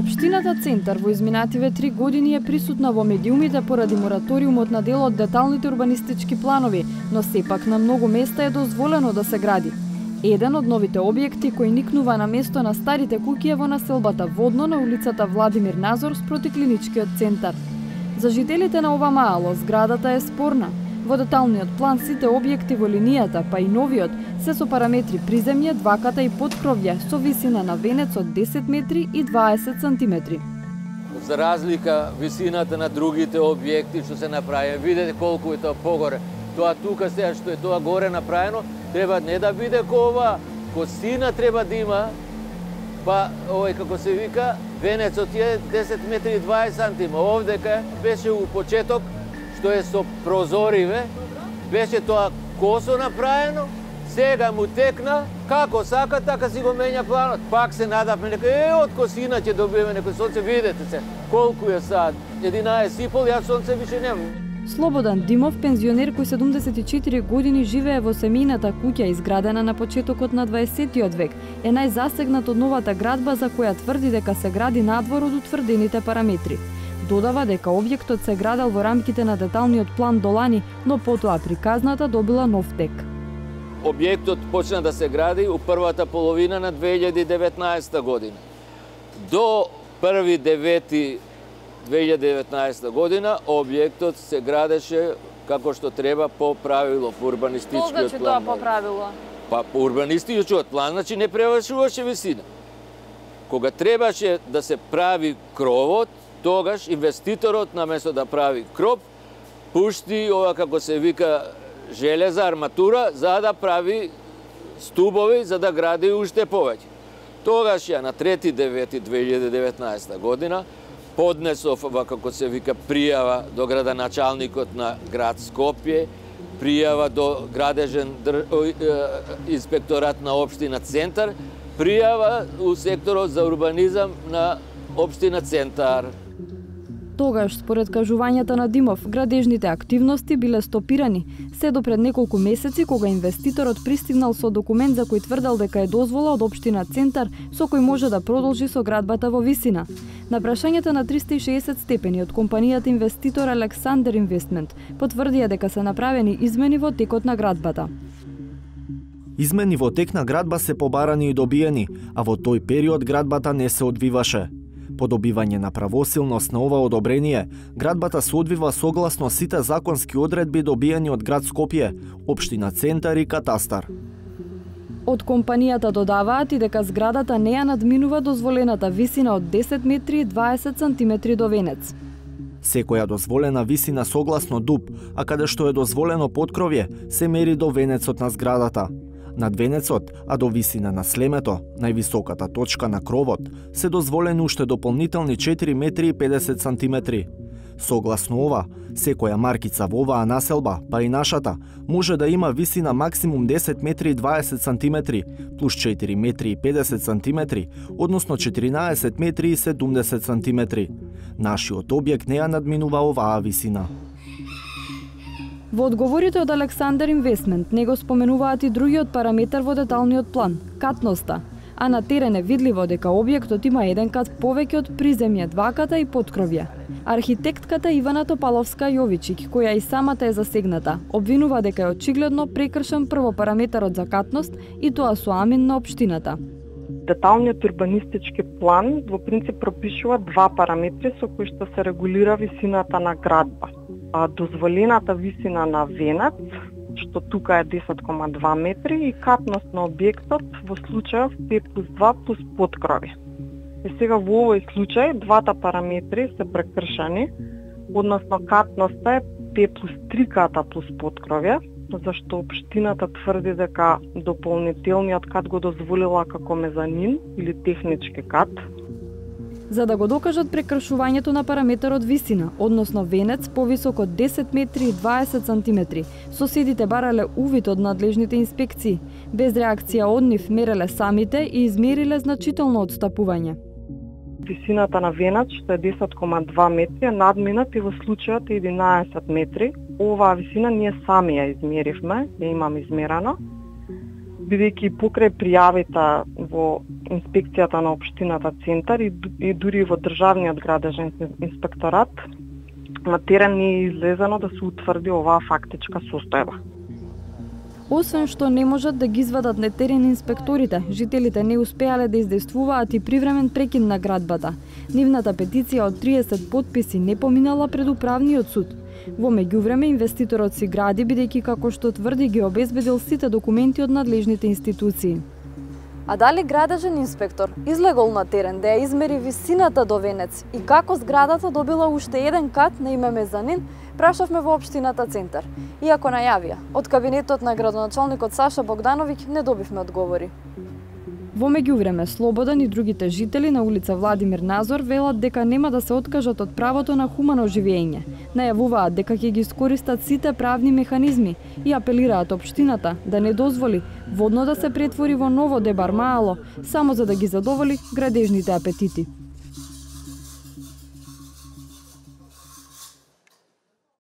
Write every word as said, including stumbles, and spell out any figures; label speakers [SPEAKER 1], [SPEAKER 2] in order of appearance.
[SPEAKER 1] Општината Центар во изминативе три години е присутна во медиумите поради мораториумот на дел од деталните урбанистички планови, но сепак на многу места е дозволено да се гради. Еден од новите објекти кој никнува на место на старите куќи е во населбата Водно на улицата Владимир Назор спроти клиничкиот центар. За жителите на ова маало зградата е спорна. Во деталниот план сите објекти во линијата, па и новиот, се со параметри приземје, дваката и поткровје со висина на венец од десет метри и дваесет сантиметри.
[SPEAKER 2] За разлика висината на другите објекти што се направи, видете колку е тоа погоре. Тоа тука сега што е тоа горе направено, треба не да биде ко ова, косина треба да има, па овој како се вика, венецот е десет метри и дваесет сантиметри. Овдека беше у почеток што е со прозориве, беше тоа косо направено, сега му текна, како сака, така си го менја планот. Пак се надавме, нека е, од косина ќе добиеме некој сонце, видете се, колку е сад, единаесет и пол, јас сонце више немам.
[SPEAKER 1] Слободан Димов, пензионер кој седумдесет и четири години живее во семејната куќа изградена на почетокот на дваесеттиот век, е најзасегнат од новата градба за која тврди дека се гради надвор од утврдените параметри. Додава дека објектот се градел во рамките на деталниот план до лани, но потоа приказната добила нов тек.
[SPEAKER 2] Објектот почна да се гради у првата половина на две илјади и деветнаесета година. До први девети две илјади и деветнаесета година објектот се градеше како што треба по правило, по урбанистичкиот план.
[SPEAKER 1] Што значи тоа по правило?
[SPEAKER 2] Па по урбанистичкиот план, значи не превишуваше висина. Кога требаше да се прави кровот, тогаш инвеститорот наместо да прави кроп, пушти ова како се вика железа, арматура, за да прави стубови, за да гради уште повеќе. Тогаш ја на трети девети две илјади и деветнаесета година поднесов ова како се вика пријава до градоначалникот на град Скопје, пријава до градежен др... инспекторат на општина Центар, пријава у секторот за урбанизам на општина Центар.
[SPEAKER 1] Тогаш, според кажувањата на Димов, градежните активности биле стопирани, се до пред неколку месеци кога инвеститорот пристигнал со документ за кој тврдел дека е дозвола од општина Центар со кој може да продолжи со градбата во висина. На прашањата на триста и шеесет степени од компанијата инвеститор Александер Инвестмент потврдија дека се направени измени во текот на градбата.
[SPEAKER 3] Измени во тек на градба се побарани и добиени, а во тој период градбата не се одвиваше. По добивање на правосилност на ова одобрение, градбата се одвива согласно сите законски одредби добиени од град Скопје, општина Центар и катастар.
[SPEAKER 1] Од компанијата додаваат и дека зградата не ја надминува дозволената висина од десет метри и дваесет сантиметри до венец.
[SPEAKER 3] Секоја дозволена висина согласно ДУП, а каде што е дозволено поткровје, се мери до венецот на зградата. Над венецот, а до висина на слемето, највисоката точка на кровот, се дозволени уште дополнителни четири метри и педесет сантиметри. Согласно ова, секоја маркица во оваа населба, па и нашата, може да има висина максимум десет метри и дваесет сантиметри, плюс четири метри и педесет сантиметри, односно четиринаесет метри и седумдесет сантиметри. Нашиот објект не ја надминува оваа висина.
[SPEAKER 1] Во одговорите од Александер Инвестмент не го споменуваат и другиот параметар во деталниот план – катноста, а на терен е видливо дека објектот има еден кат повеќе од приземје, дваката и поткровје. Архитектката Ивана Топаловска Јовичик, која и самата е засегната, обвинува дека е очигледно прекршен прво параметарот за катност и тоа со амин на општината.
[SPEAKER 4] Деталниот урбанистички план во принцип пропишува два параметри со кои што се регулира висината на градба. А дозволената висина на венец, што тука е десет кома два метри, и катност на објектот во случајов пет плюс два плюс поткрови. И сега во овој случај двата параметри се прекршени, односно катноста е пет плюс три ката плюс поткровје, зашто општината тврди дека дополнителниот кат го дозволила како мезанин или технички кат.
[SPEAKER 1] За да го докажат прекршувањето на параметарот висина, односно венец повисок од десет метри и дваесет сантиметри, соседите барале увид од надлежните инспекции. Без реакција од нив мереле самите и измериле значително одстапување.
[SPEAKER 4] Висината на венец, што е десет кома два метри, е надминат и во случајот е единаесет метри. Оваа висина ние сами ја измеривме, ја имам измерено. Бидејќи покрај пријавите во инспекцијата на општината Центар и, и дури во државниот градежен инспекторат на терен не е излезено да се утврди оваа фактичка состојба.
[SPEAKER 1] Освен што не можат да ги извадат на терен инспекторите, жителите не успеале да издействуваат и привремен прекин на градбата. Нивната петиција од триесет потписи не поминала пред управниот суд. Во меѓувреме инвеститорот си гради бидејќи како што тврди ги обезбедил сите документи од надлежните институции.
[SPEAKER 5] А дали градежен инспектор излегол на терен да ја измери висината до венец и како зградата добила уште еден кат на име мезанин, прашавме во општината Центар. Иако најавија, од кабинетот на градоначалникот Саша Богдановиќ не добивме одговори.
[SPEAKER 1] Во меѓувреме, Слободан и другите жители на улица Владимир Назор велат дека нема да се откажат од правото на хумано живење. Најавуваат дека ќе ги искористат сите правни механизми и апелираат општината да не дозволи водно да се претвори во ново Дебар Маало, само за да ги задоволи градежните апетити.